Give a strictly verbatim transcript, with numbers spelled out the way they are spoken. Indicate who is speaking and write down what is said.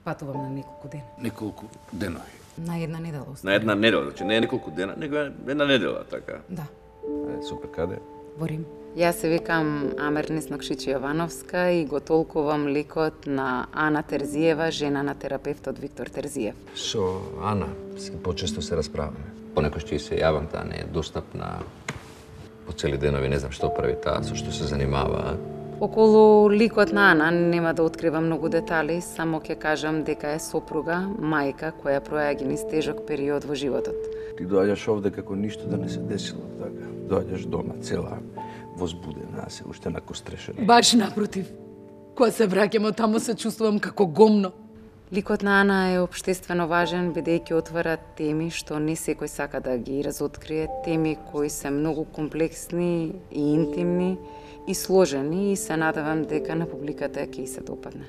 Speaker 1: Патувам на неколку дена.
Speaker 2: Неколку денови.
Speaker 1: На една недела
Speaker 3: На
Speaker 1: оставам.
Speaker 3: една недела, значи не е неколку дена, него е една недела, така.
Speaker 1: Да,
Speaker 4: Е, супер, каде?
Speaker 1: во Рим.
Speaker 5: Јас се викам Амернис Нокшичи Јовановска и го толкувам ликот на Ана Терзиева, жена на терапевтот Виктор Терзиев.
Speaker 4: Со Ана, се почесто се расправаме. Понекој ќе се јавам, таа не е достапна по цели денови, не знам што прави таа, со што се занимава.
Speaker 5: Околу ликот на Ана нема да откривам многу детали, само ќе кажам дека е сопруга, мајка која проаѓа низ тежок период во животот.
Speaker 2: Ти доаѓаш овде како ништо да не се десило, така. Доаѓаш дома цела возбудена, се уште накострешена.
Speaker 1: Баш напротив. Кога се враќам од таму се чувствувам како гомно.
Speaker 5: Ликот на Ана е општествено важен, бидејќи отвара теми што не секој сака да ги разоткрие, теми кои се многу комплексни и интимни и сложени и се надевам дека на публиката ќе и се допадне.